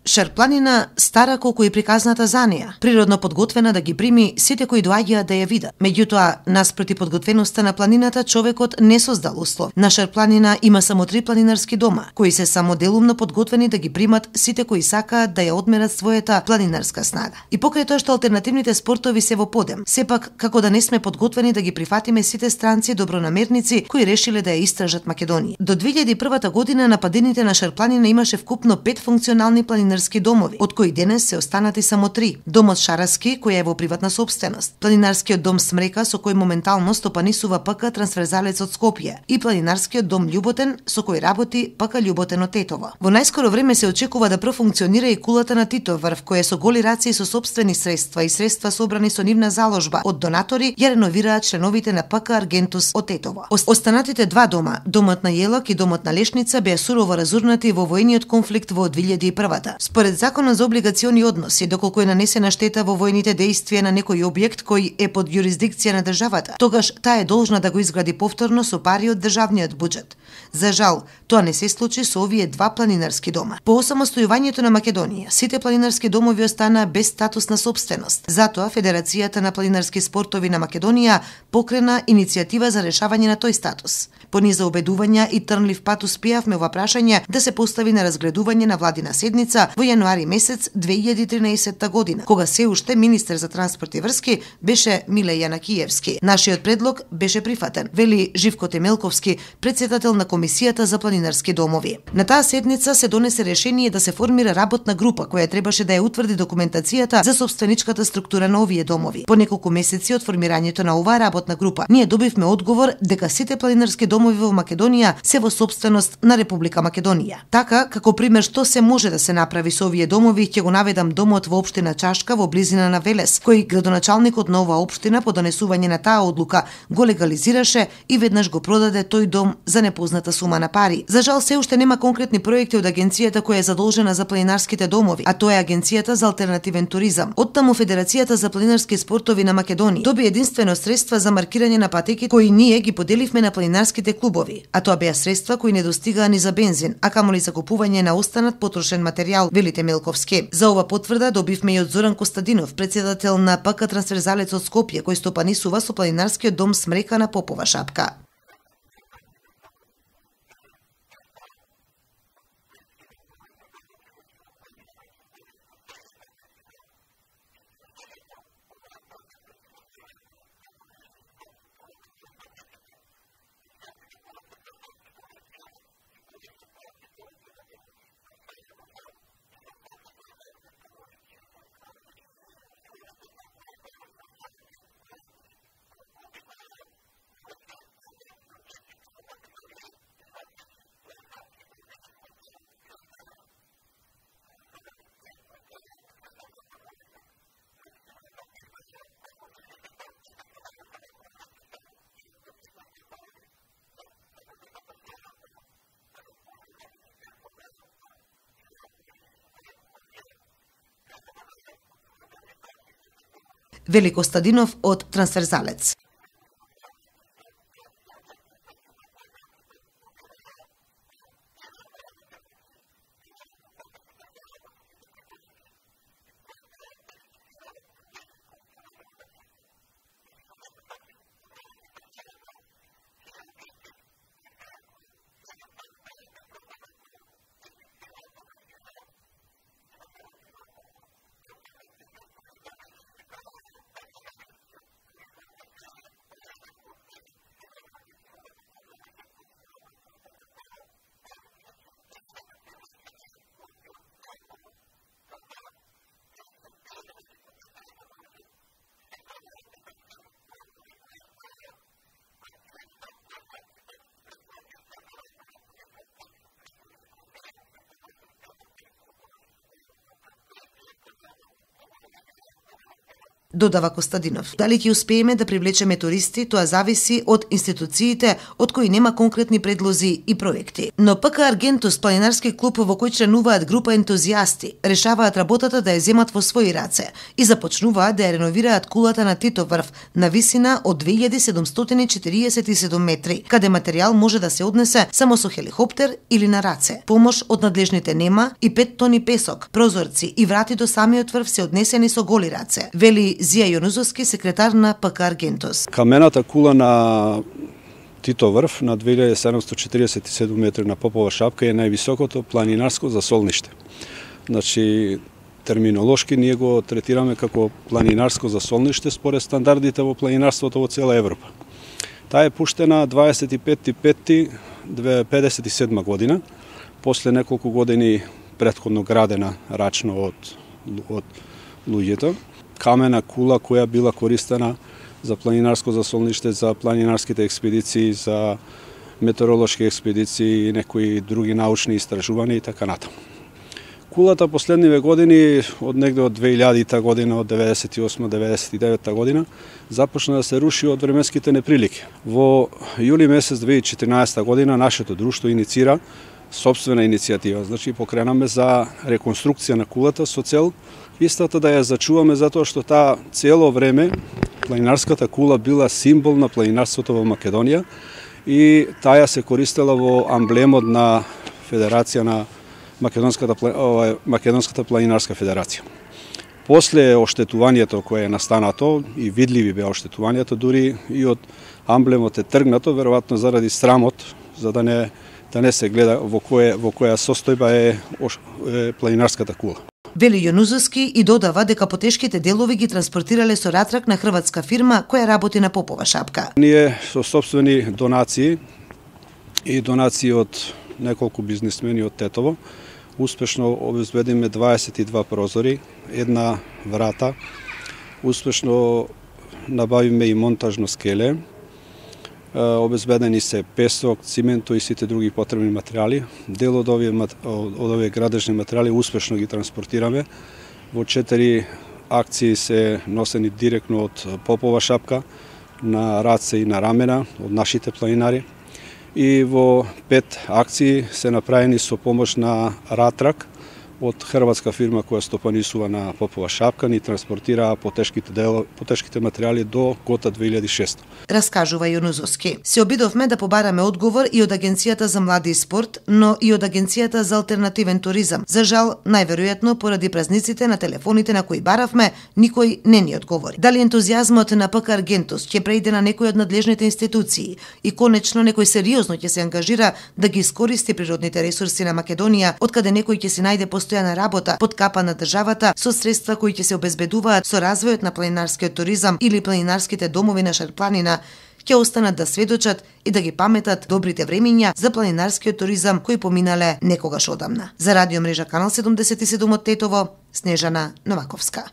Шарпланина стара колку и приказната за неа, природно подготвена да ги прими сите кои доаѓаат да ја видат. Меѓутоа, наспроти подготвеноста на планината, човекот не создал услов. На Шарпланина има само 3 планинарски дома, кои се само делумно подготвени да ги примат сите кои сакаат да ја одмерат својата планинарска снага. И покрај тоа што алтернативните спортови се во подем, сепак како да не сме подготвени да ги прифатиме сите странци добронамерници кои решиле да ја истражат Македонија. До 2001 година на падините на Шарпланина имаше вкупно 5 функционални планинарски домови, од кои денес се останати само 3. Домот Шараски, кој е во приватна собственост, планинарскиот дом Смрека, со кој моментално стопанисува ПК Трансферзалец од Скопје, и планинарскиот дом Љуботен, со кој работи ПК Љуботен од Тетово. Во најскоро време се очекува да профункционира и кулата на Титов врв, која со голи раци со сопствени средства и средства собрани со нивна заложба од донатори, ја реновираат членовите на ПК Аргентус од Тетово. Останатите 2 дома, домот на Јелак и домот на Лешница, беа сурово разурнати во војниот конфликт во 2001. Според Законот за облигациони односи, доколку е нанесена штета во војните дејствија на некој објект кој е под јурисдикција на државата, тогаш таа е должна да го изгради повторно со пари од државниот буџет. За жал, тоа не се случи со овие 2 планинарски дома. По осамостојувањето на Македонија, сите планинарски домови останаа без статус на собственост. Затоа Федерацијата на планинарски спортови на Македонија покрена иницијатива за решавање на тој статус. По низа убедувања и трнлив пат успеавме ова прашање да се постави на разгледување на владина седница во јануари месец 2013 година, кога се уште министер за транспорт и врски беше Миле Јанакиевски. Нашиот предлог беше прифатен, вели Живко Темелковски, претседател на Комисијата за планинарски домови. На таа седница се донесе решение да се формира работна група која требаше да ја утврди документацијата за собственичката структура на овие домови. По неколку месеци од формирањето на оваа работна група, ние добивме одговор дека сите планинарски домови во Македонија се во собственост на Република Македонија. Така, како пример што се може да се направи со овие домови, ќе го наведам домот во општина Чашка во близина на Велес, кој градоначалникот на оваа општина по донесување на таа одлука го легализираше и веднаш го продаде тој дом за непозната сума на пари. За жал се уште нема конкретни проекти од агенцијата која е задолжена за планинарските домови, а тоа е Агенцијата за алтернативен туризам. Оттаму Федерацијата за планинарски спортови на Македонија доби единствено средства за маркирање на патеки кои ние ги поделивме на планинарските клубови, а тоа беа средства кои не достигаа ни за бензин, а камоли за купување на останат потрошен материјал, вели Темелковски. За ова потврда добивме и од Зоран Костадинов, претседател на ПК Трансферзалец од Скопје, кој стопанисува со планинарскиот дом Смрека на Попова шапка. Вели Костадинов од Трансферзалец. додава Костадинов. Дали ќе успееме да привлечеме туристи, тоа зависи од институциите од кои нема конкретни предлози и проекти. Но ПК Аргентус, планинарски клуб во кој членуваат група ентузијасти, решаваат работата да ја земат во своји раце и започнуваат да ја реновираат кулата на Титов врв на висина од 2747 метри, каде материјал може да се однесе само со хеликоптер или на раце. Помош од надлежните нема и 5 тони песок, прозорци и врати до самиот врв се однесени со голи раце, вели Зија Јонузовски, секретар на ПК Аргентус. Камената кула на Тито врв на 2747 метри на Попова шапка е највисокото планинарско засолниште. Значи, терминолошки ние го третираме како планинарско засолниште според стандардите во планинарството во цела Европа. Таа е пуштена 25.5.1957 година, после неколку години претходно градена рачно од луѓето. Камена кула која била користена за планинарско засолниште, за планинарските експедиции, за метеоролошки експедиции и некои други научни истражувања и така натаму. Кулата последниве години, од негде од 2000 година, од 98-99 година, започна да се руши од временските неприлики. Во јули месец 2014 година нашето друштво иницира собствена иницијатива. Значи, покренаме за реконструкција на кулата со цел истата да ја зачуваме, затоа што таа цело време планинарската кула била символ на планинарството во Македонија и таа се користела во амблемот на Федерација на Македонската планинарска федерација. После оштетувањето кое е настанато и видливи беа оштетувањето, дури и од амблемот е тргнато, веројатно заради срамот, за да не се гледа во која состојба е планинарската кула. Вели Јонузовски и додава дека потешките делови ги транспортирале со ратрак на хрватска фирма која работи на Попова шапка. Ние со собствени донации и донации од неколку бизнисмени од Тетово успешно обезбедиме 22 прозори, една врата, успешно набавиме и монтажно скеле, обезбедени се песок, цименто и сите други потребни материјали. Дел од овие градежни материјали успешно ги транспортираме. Во 4 акции се носени директно од Попова шапка на раце и на рамена од нашите планинари. И во 5 акции се направени со помош на ратрак од хрватска фирма која стопанисува на Попова шапка, ни транспортира потешките материјали до Кота 2600. Раскажува Јонузовски. Се обидовме да побараме одговор и од Агенцијата за млади и спорт, но и од Агенцијата за алтернативен туризам. За жал, најверојатно поради празниците на телефоните на кои баравме, никој не ни одговори. Дали ентузијазмот на ПК Аргентус ќе преиде на некој од надлежните институции и конечно некој сериозно ќе се ангажира да ги искористи природните ресурси на Македонија, откаде некој ќе се најде постојана работа под капа на државата со средства кои ќе се обезбедуваат со развојот на планинарскиот туризам или планинарските домови на Шарпланина, ќе останат да сведочат и да ги паметат добрите времиња за планинарскиот туризам кои поминале некогаш одамна. За радио мрежа Канал 77 од Тетово, Снежана Новаковска.